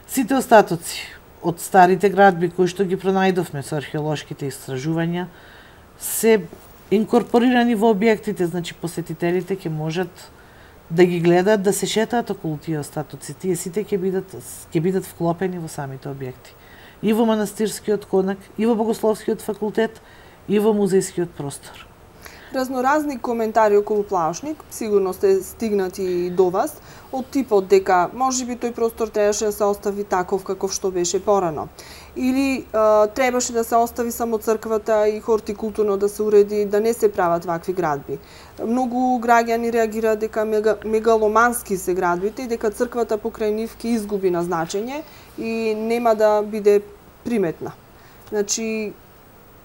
B: Сите остатоци од старите градби кои што ги пронајдовме со археолошките истражувања се инкорпорирани во објектите, значи посетителите ќе можат да ги гледаат, да се шетаат околу тие остатоци. Тие сите ќе бидат вклопени во самите објекти. И во манастирскиот конак, и во Богословскиот факултет, и во музејскиот простор.
A: Разноразни коментари околу Плаушник, сигурно сте стигнати и до вас, од типот дека можеби тој простор требаше да се остави таков каков што беше порано. Или требаше да се остави само црквата и хортикултурно да се уреди, да не се прават вакви градби. Многу граѓани реагираат дека мегаломански се градбите и дека црквата покрај нив ќе изгуби на значење и нема да биде приметна. Значи,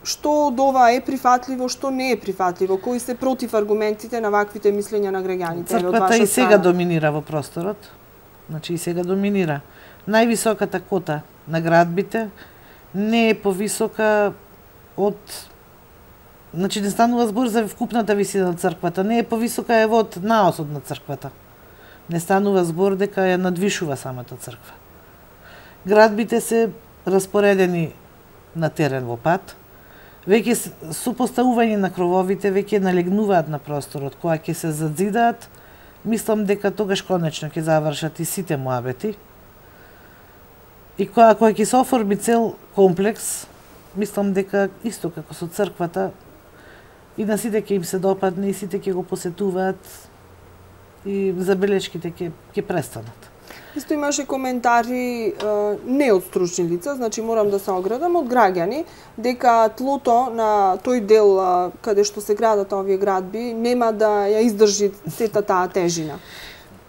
A: што од ова е прифатливо, што не е прифатливо, кои се против аргументите на ваквите мислења на граѓаните?
B: Црквата и сега доминира во просторот. Значи и сега доминира. Највисоката кота на градбите не е повисока од... Значи не станува збор за вкупната висина на црквата, не е повисока ево од наосот на црквата. Не станува збор дека ја надвишува самата црква. Градбите се распоредени на терен во пат, веќе со поставување на крововите веќе налегнуваат на просторот, кога ќе се задзидаат, мислам дека тогаш конечно ќе завршат и сите муабети. И кога ќе се оформи цел комплекс, мислам дека исто како со црквата, и на сите ќе им се допадне, и сите ќе го посетуваат, и забелешките ќе престанат.
A: Исто имаше коментари не од стручни лица, значи морам да се оградам, од граѓани, дека тлото на тој дел каде што се градат овие градби нема да ја издржи сета таа тежина.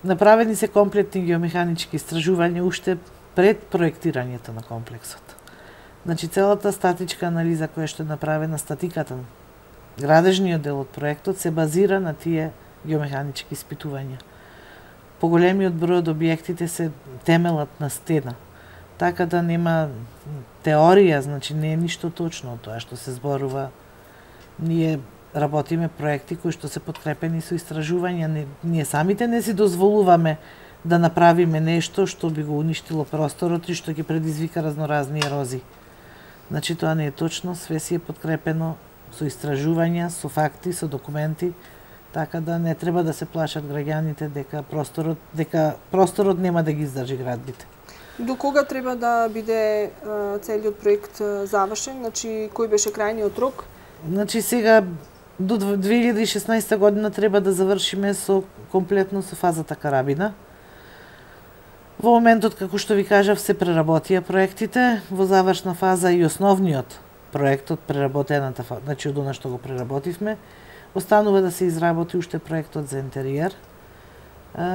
B: Направени се комплетни геомеханички истражувања уште пред проектирањето на комплексот. Значи целата статичка анализа која што е направена, статиката, градежниот дел од проектот се базира на тие геомеханички испитувања. поголемиот број од објектите се темелат на стена. Така да нема теорија, значи не е ништо точно тоа што се зборува. Ние работиме проекти кои што се подкрепени со истражувања. Ние самите не си дозволуваме да направиме нешто што би го уништило просторот и што ќе предизвика разноразни ерозии. Значи тоа не е точно, све си е подкрепено со истражувања, со факти, со документи, така да не треба да се плашат граѓаните дека просторот нема да ги издржи градбите.
A: До кога треба да биде целиот проект завршен? Значи кој беше крајниот рок?
B: Значи сега до 2016 година треба да завршиме комплетно со фазата Карабина. Во моментот, како што ви кажав, се преработија проектите, во завршна фаза и основниот проект од преработената фаза, значи од она што го преработивме, останува да се изработи уште проектот за интериер.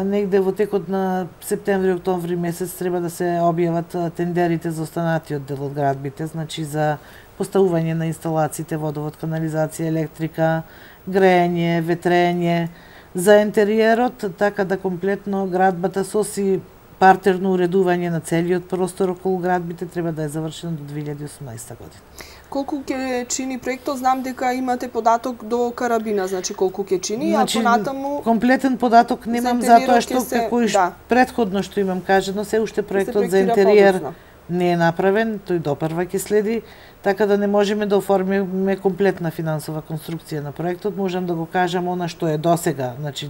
B: Негде во текот на септември-октомври месец треба да се објават тендерите за останатиот дел од градбите, значи за поставување на инсталациите водовод, канализација, електрика, грејење, ветрење, за интериерот, така да комплетно градбата соси партерно уредување на целиот простор околу градбите треба да е завршено до 2018 година.
A: Колку ќе чини проектот? Знам дека имате податок до Карабина, значи колку ќе чини,
B: значи,
A: а понатаму
B: комплетен податок немам затоа што како претходно што имам кажано, се уште проектот за интериер не е направен, тој допрва ќе следи, така да не можеме да оформиме комплетна финансова конструкција на проектот, можам да го кажам она што е досега, значи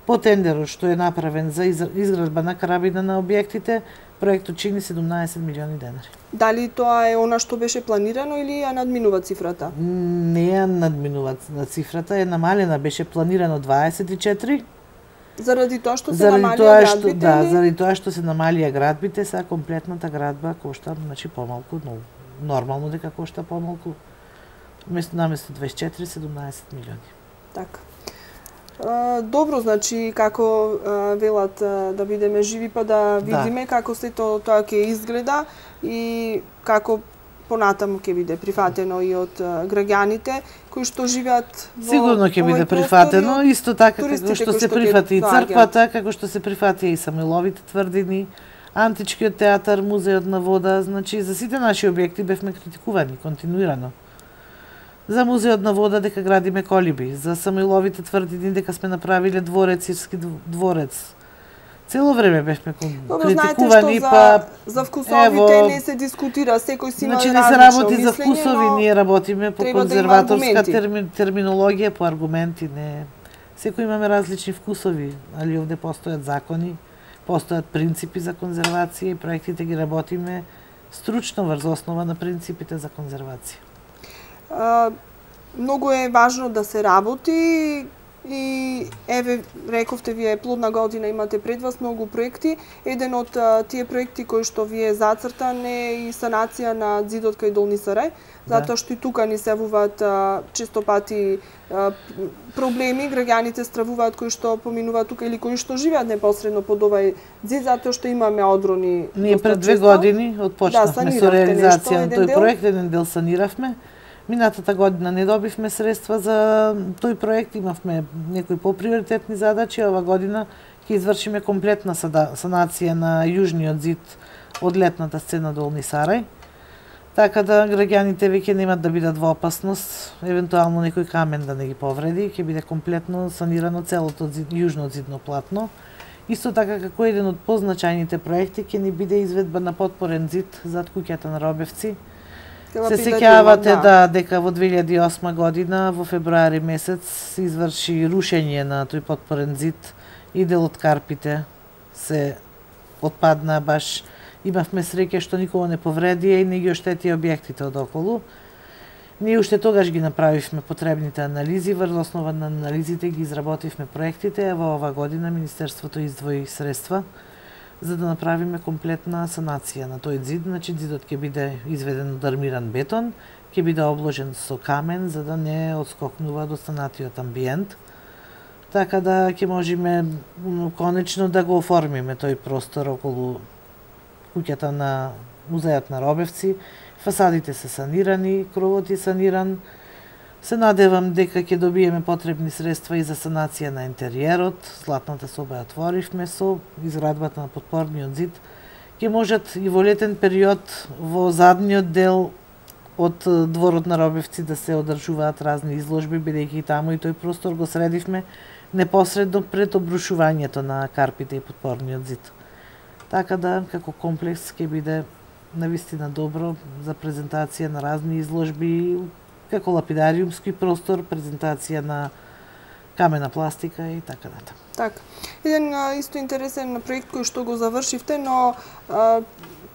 B: по тендерот што е направен за изградба на Карабина на објектите, проектот чини 17 милиони денари.
A: Дали тоа е она што беше планирано или ја надминува цифрата?
B: Не ја надминува цифрата, е намалена, беше планирано 24.
A: Заради тоа што се намалија градбите?
B: Да, заради тоа што се намалија градбите, сега комплетната градба кошта, значи помалку, но нормално дека кошта помалку. Наместо 24, 17 милиони.
A: Така. Добро, значи како велат да бидеме живи па да видиме како сето тоа ќе изгледа и како понатаму ќе биде прифатено и од граѓаните кои што живеат во
B: сигурно ќе биде прифатено, исто така како што се прифати и црквата, како што се прифати и Самуиловите тврдини, Античкиот театар, Музеот на вода, значи за сите наши објекти бевме критикувани континуирано. За Музеот на вода дека градиме колиби, за Самуиловите тврдини дека сме направиле дворец, Ирски дворец. Цело време бевме критикувани,
A: па за вкусовите не се дискутира, секој си има различно мислење.
B: Значи не се работи за вкусови, ние работиме по конзерваторска терминологија, по аргументи, не. Секој имаме различни вкусови, али овде постојат закони, постојат принципи за конзервација и проектите ги работиме стручно врз основа на принципите за конзервација.
A: Многу е важно да се работи и еве рековте вие плодна година имате пред вас многу проекти. Еден од тие проекти кои што ви е зацртан е и санација на ѕидот кај Долни Сарај, затоа што и тука ни се јавуваат често пати проблеми, граѓаните стравуваат кои што поминуваат тука или кои што живеат непосредно под овај ѕид, затоа што имаме одрони.
B: Ние пред 2 години отпочнавме со реализација на тој проект, еден дел саниравме. Минатата година не добивме средства за тој проект, имавме некои поприоритетни задачи, ова година ќе извршиме комплетна санација на јужниот ѕид од летната сцена Долни Сарај, така да граѓаните веќе немат да бидат во опасност, евентуално некој камен да не ги повреди, ќе биде комплетно санирано целото јужно ѕидно платно. Исто така како еден од позначајните проекти ќе ни биде изведба на потпорен ѕид зад куќата на Робевци. Се сеќавате дека во 2008 година во февруари месец се изврши рушење на тој потпорен ѕид и дел од карпите се отпадна, баш имавме среќа што никого не повредија и не ги оштети објектите од околу. Ние уште тогаш ги направивме потребните анализи, врз основа на анализите ги изработивме проектите, а во ова година Министерството издвои средства за да направиме комплетна санација на тој ѕид, значи ѕидот ќе биде изведен од армиран бетон, ќе биде обложен со камен за да не отскокнува до останатиот амбиент. Така да ќе можеме конечно да го оформиме тој простор околу куќата на Музеот на Робевци. Фасадите се санирани, кровот е саниран. Се надевам дека ќе добиеме потребни средства и за санација на интериерот. Златната соба ја отворивме со изградбата на подпорниот зид. Ќе можат и во летен период во задниот дел од дворот на Робевци да се одржуваат разни изложби, бидејќи и таму и тој простор го средивме непосредно пред обрушувањето на карпите и подпорниот зид. Така да, како комплекс ќе биде навистина добро за презентација на разни изложби, како лапидариумски простор, презентација на камена пластика и така натаму.
A: Така. Еден исто интересен проект кој што го завршивте, но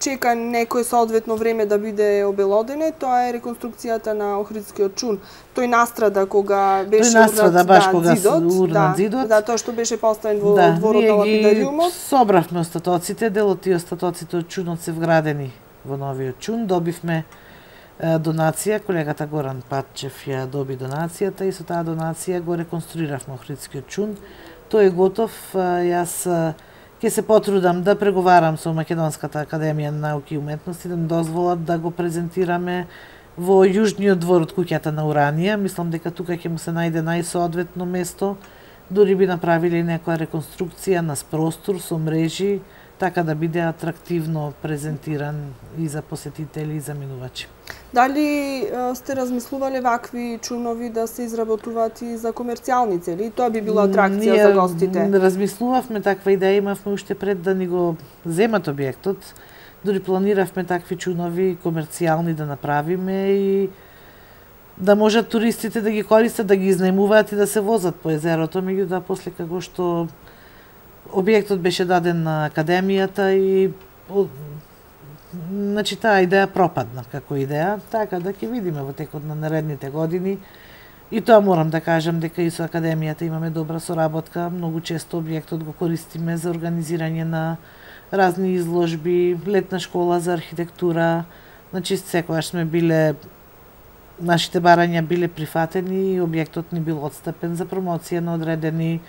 A: чека некое соодветно време да биде обелодене, тоа е реконструкцијата на Охридскиот чун. Тој настрада кога беше урнат зидот. Да, тоа што беше поставен во дворот на лапидариумот.
B: Собравме остатоците, дел од тие остатоците од чунот се вградени во новиот чун. Добивме донација, колегата Горан Патчев ја доби донацијата и со таа донација го реконструиравме Охридскиот чун. Тој е готов. Јас ќе се потрудам да преговарам со Македонската академија на науки и уметности да ни дозволат да го презентираме во јужниот двор од куќата на Уранија. Мислам дека тука ќе му се најде најсоодветно место. Дури би направиле некоја реконструкција на простор со мрежи, така да биде атрактивно презентиран и за посетители и за минувачи.
A: Дали сте размислувале вакви чунови да се изработуваат и за комерцијални цели? Тоа би било атракција за гостите.
B: Ние размислувавме таква идеја, имавме уште пред да ни го земат објектот. Дури планиравме такви чунови комерцијални да направиме и да можат туристите да ги користат, да ги изнајмуваат и да се возат по езерото, меѓутоа после како што објектот беше даден на академијата и значи таа идеја пропадна како идеја, така да ќе видиме во текот на наредните години. И тоа морам да кажам дека и со академијата имаме добра соработка, многу често објектот го користиме за организирање на разни изложби, летна школа за архитектура, значи секогаш сме биле нашите барања биле прифатени и објектот ни бил отстапен за промоција на одредени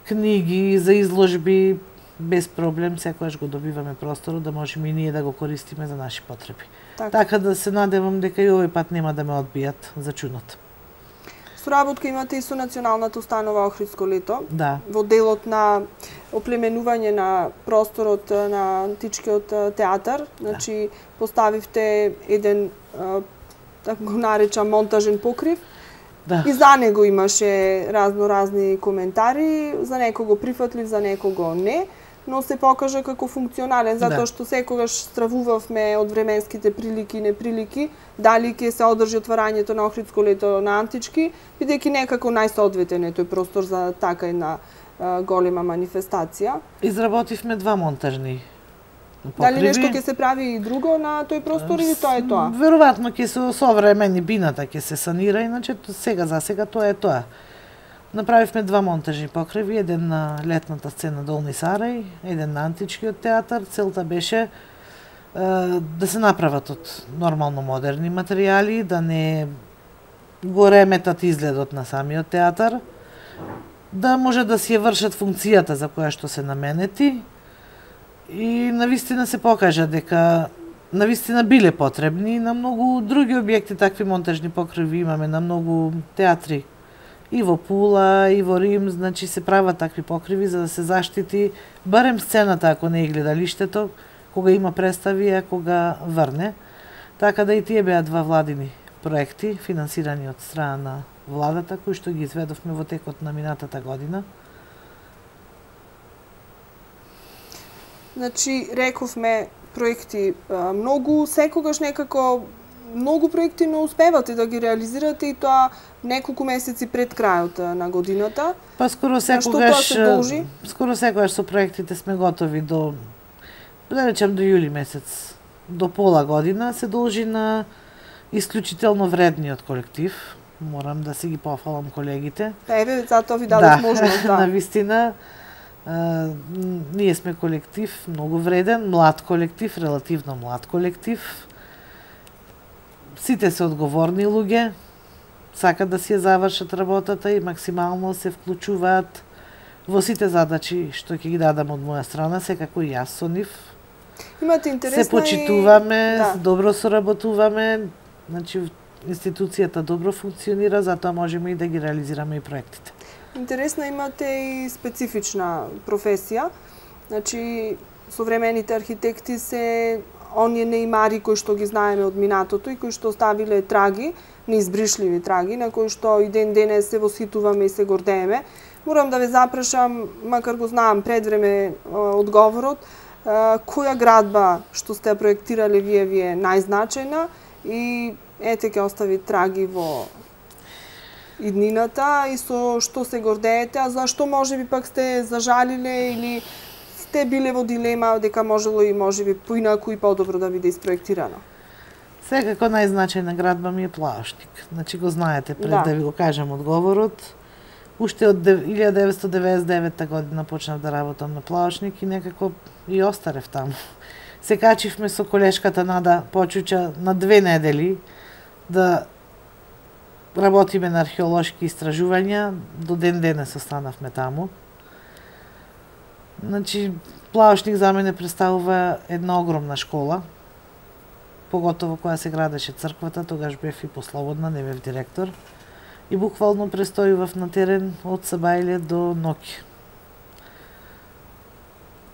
B: книги, за изложби, без проблем, секогаш го добиваме просторот да можеме и ние да го користиме за наши потреби. Така да се надевам дека и овој пат нема да ме одбијат за чунот.
A: Соработка имате и со Националната установа Охридско лето.
B: Да.
A: Во делот на оплеменување на просторот на античкиот театар, значи поставивте еден така го наречам монтажен покрив.
B: Да.
A: И за него имаше разни коментари, за некого прифатлив, за некого не, но се покажа како функционален, затоа што секогаш стравувавме од временските прилики и неприлики, дали ќе се одржи отварањето на Охридско лето на антички, бидејќи некако најсоодветен е тој простор за така една голема манифестација.
B: Изработивме 2 монтажни покриви.
A: Дали нешто ќе се прави и друго на тој простор или тоа е тоа?
B: Веројатно ќе се современи бината ќе се санира, иначе сега за сега тоа е тоа. Направивме 2 монтажни покриви, еден на летната сцена Долни Сарај, еден на античкиот театар. Целта беше да се направат од нормално модерни материјали, да не го реметат изгледот на самиот театар, да може да си ја вршат функцијата за која што се наменети. И навистина се покажа дека навистина биле потребни. На многу други објекти такви монтажни покриви имаме, на многу театри. И во Пула, и во Рим, значи се прават такви покриви за да се заштити барем сцената, ако не е гледалиштето, кога има представи, а кога врне. Така да и тие беа 2 владини проекти, финансирани од страна на владата, кои што ги изведовме во текот на минатата година.
A: Значи, рековме проекти многу, секогаш некако многу проекти не успевате да ги реализирате и тоа неколку месеци пред крајот на годината.
B: Па скоро секогаш со проектите сме готови до, да речем, до јули месец, до пола година. Се должи на исклучително вредниот колектив. Морам да си ги пофалам колегите.
A: Еве, затоа ви дадов можност, да.
B: Навистина, ние сме колектив многу вреден, млад колектив, релативно млад колектив. Сите се одговорни луѓе, сакат да си ја завршат работата и максимално се вклучуваат во сите задачи што ќе ги дадам од моја страна, секако и јас со нив.
A: Имате интересна
B: се почитуваме, добро соработуваме, значи институцијата добро функционира, затоа можеме и да ги реализираме и проектите.
A: Интересна, имате и специфична професија. Значи, современите архитекти се оние неимари кои што ги знаеме од минатото и кои што оставиле траги, неизбришливи траги, на кои што и ден денес се восхитуваме и се гордееме. Морам да ве запрашам, макар го знам пред време одговорот, која градба што сте ја проектирале ви е најзначајна и ете ќе остави траги во иднината и со што се гордеете, а зашто можеби пак сте зажалиле или сте биле во дилема дека можело и можеби поинаку и подобро да биде испроектирано?
B: Секако најзначајна градба ми е Плаошник. Значи го знаете пред да ви го кажам одговорот. Уште од 1999 година почнав да работам на Плаошник и некако и остарев таму. Се качивме со колешката Нада Почуча на 2 недели да работиме на археолошки истражувања, до ден денес останавме таму. Значи, Плаошник за мене представува една огромна школа, поготово кога се градеше црквата, тогаш бев и послободна, не бев директор. И буквално престојував на терен од Сабајле до Ноки.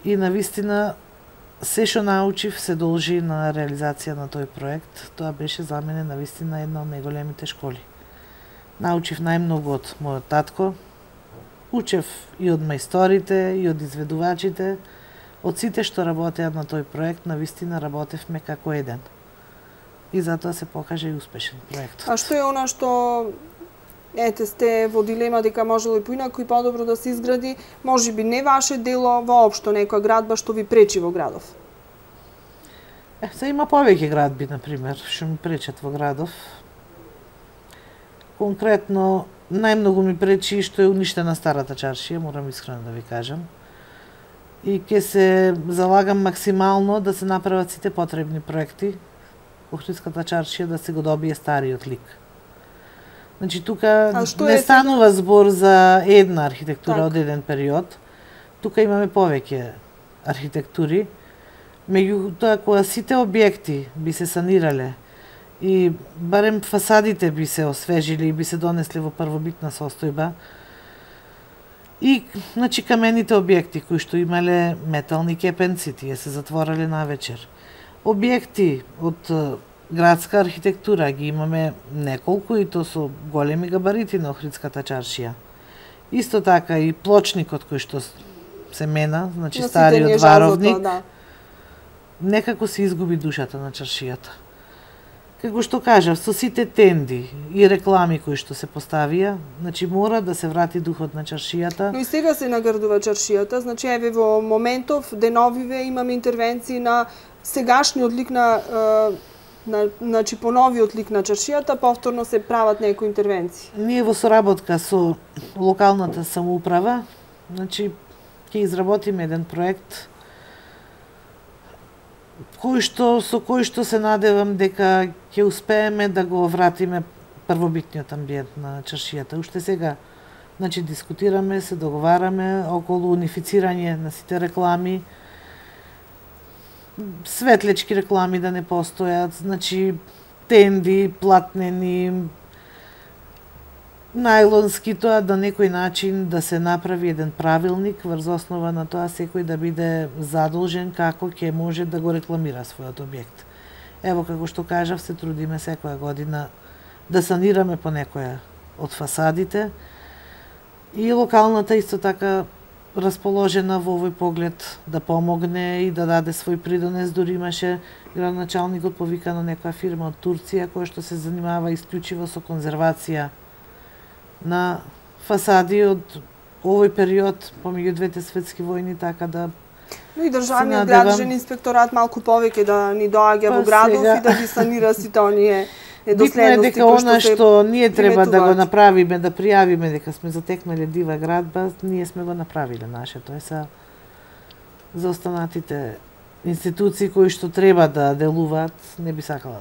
B: И навистина, се што научив се должи на реализација на тој проект. Тоа беше за мене навистина една од најголемите школи. Научив најмногу од мојот татко, учев и од мајсторите, и од изведувачите, од сите што работеа на тој проект, навистина работевме како еден. И затоа се покажа и успешен проект.
A: А што е она што ете сте во дилема дека можело и поинаку и подобро да се изгради, можеби не ваше дело, воопшто некоја градба што ви пречи во градов?
B: Се има повеќе градби, например, што ми пречат во градов. Конкретно, најмногу ми пречи што е уништена старата чаршија, морам искрено да ви кажам. И ќе се залагам максимално да се направат сите потребни проекти, Охридската чаршија да се го добие стариот лик. Значи, тука не станува збор за една архитектура од еден период. Тука имаме повеќе архитектури. Меѓутоа, кога сите објекти би се санирале и барем фасадите би се освежили и би се донесли во првобитна состојба, и значи камените објекти кои што имале метални кепенци, тие се затворале навечер. Објекти од градска архитектура ги имаме неколку и то со големи габарити на Охридската чаршија. Исто така и плочникот кој што се мена, значи стариот варовник, некако се изгуби душата на чаршијата. Како што кажав, со сите тенди и реклами кои што се поставија, значи мора да се врати духот на чаршијата.
A: Но и сега се наградува чаршијата, значи еве во моментов деновиве имаме интервенции на сегашниот лик на значи по новиот лик на чаршијата, повторно се прават некои интервенции.
B: Ние во соработка со локалната самоуправа, значи ќе изработиме еден проект со кој што се надевам дека ќе успееме да го вратиме првобитниот амбиент на чаршијата. Уште сега, значи, дискутираме, се договараме околу унифицирање на сите реклами, светлечки реклами да не постојат, значи, тенди, платнени, најлонски, тоа на некој начин да се направи еден правилник врз основа на тоа секој да биде задолжен како ќе може да го рекламира својот објект. Ево, како што кажав, се трудиме секоја година да санираме по некоја од фасадите и локалната исто така расположена во овој поглед да помогне и да даде свој придонес. Дури имаше градоначалникот повикано некоја фирма од Турција која што се занимава исклучиво со конзервација на фасади од овој период помеѓу двете светски војни, така да
A: но и државниот градежен инспекторат малку повеќе да ни доаѓа во градов и да ги санира сите оние недоследности.
B: Битно е дека она што ние треба да го направиме, да пријавиме дека сме затекнале дива градба, ние сме го направиле нашето. Е са за останатите институции кои што треба да делуваат, не би сакала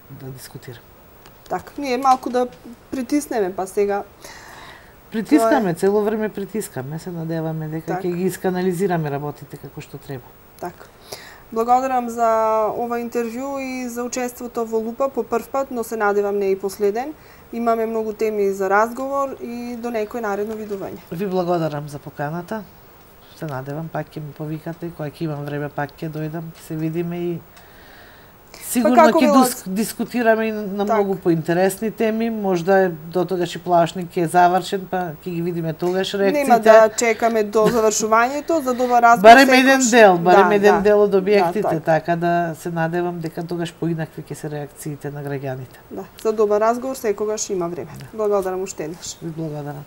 B: да дискутирам.
A: Така, ние малку да притиснеме, па сега...
B: Притискаме, цело време притискаме, се надеваме дека ќе ги исканализираме работите како што треба.
A: Така. Благодарам за ова интервју и за учеството во Лупа по прв пат, но се надевам не и последен. Имаме многу теми за разговор и до некој наредно видување.
B: Ви благодарам за поканата. Се надевам пак ќе ме повикате, кога ќе имам време пак ќе дојдам, ќе се видиме и сигурно ќе дискутираме и на многу поинтересни теми, можда до тогаш и плашник е завршен, па ќе ги видиме тогаш реакциите.
A: Нема да чекаме до завршувањето за добар разговор.
B: Барем еден дел од објектите, така да се надевам дека тогаш поинакви ќе се реакциите на граѓаните.
A: Да, за добар разговор секогаш има време. Благодарам уште еднаш.
B: Ви благодарам.